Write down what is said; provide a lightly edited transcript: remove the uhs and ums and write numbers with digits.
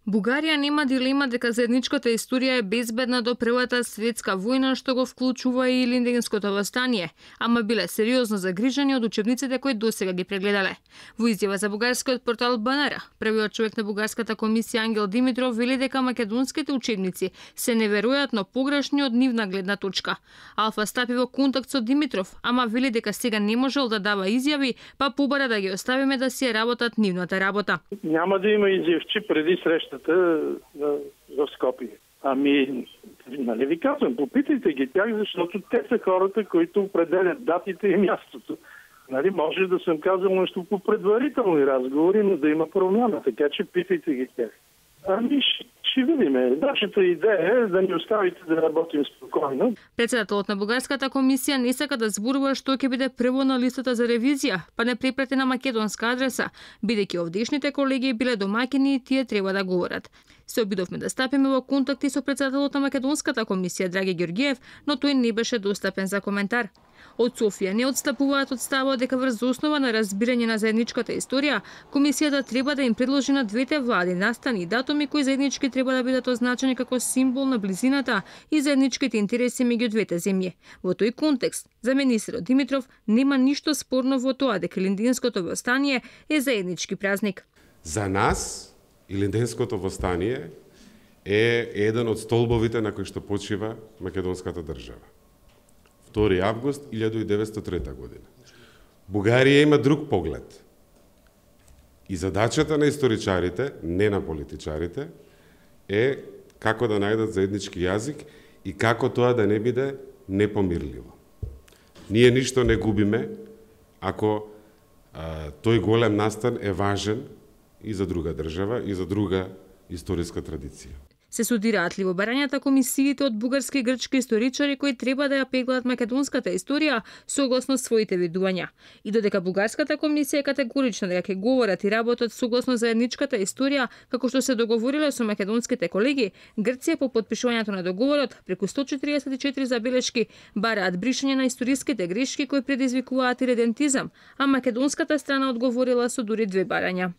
Бугарија нема дилема дека заедничката историја е безбедна до Првата светска војна, што го вклучува и Илинденското восстание, ама биле сериозно загрижени од учебниците кои досега ги прегледале. Во изјава за бугарскиот портал БНР, првиот човек на бугарската комисија Ангел Димитров вели дека македонските учебници се неверојатно погрешни од нивна гледна точка. Алфа стапи во контакт со Димитров, ама вели дека сега не можел да дава изјави, па побара да ги оставиме да си работат нивната работа. Няма да има изјавчи преди срещата в Скопје. Ами, нали ви казвам, попитайте ги тях, защото те са хората, които определят датите и мястото. Нали, може да съм казал нещо по предварителни разговори, но да има промяна, така че питайте ги тях. Ами, ще видим. Нашата идея е да ни оставите да работим спокойно. Председателот на бугарската комисија не сака да зборува што ќе биде прво на листата за ревизија, па не препрати на македонска адреса, бидејќи овдешните колеги биле домаќини и тие треба да говорат. Се обидовме да стапиме во контакти со председателот на македонската комисија Драги Ѓорѓиев, но тој не беше достапен за коментар. Од Софија не отстапуваат од ставот дека врз основа на разбирање на заедничката историја, комисијата треба да им предложи на двете влади настани и датуми кои заеднички треба да бидат означени како символ на близината и заедничките интереси меѓу двете земји. Во тој контекст, за министерот Димитров нема ништо спорно во тоа дека Илинденското восстание е заеднички празник. За нас Илинденското восстание е еден од столбовите на кои што почива македонската држава. 2 август 1903 година. Бугарија има друг поглед. И задачата на историчарите, не на политичарите, е како да најдат заеднички јазик и како тоа да не биде непомирливо. Ние ништо не губиме ако тој голем настан е важен и за друга држава и за друга историска традиција. Се судираат ли во барањата комисиите од бугарски и грчки историчари кои треба да ја пеглаат македонската историја согласно своите видувања. И додека бугарската комисија е категорична дека ќе говорат и работат согласно заедничката историја, како што се договориле со македонските колеги, Грција по подпишувањето на договорот преку 144 забелешки бараат бришање на историските грешки кои предизвикуваат иредентизам, а македонската страна одговорила со дури 2 барања.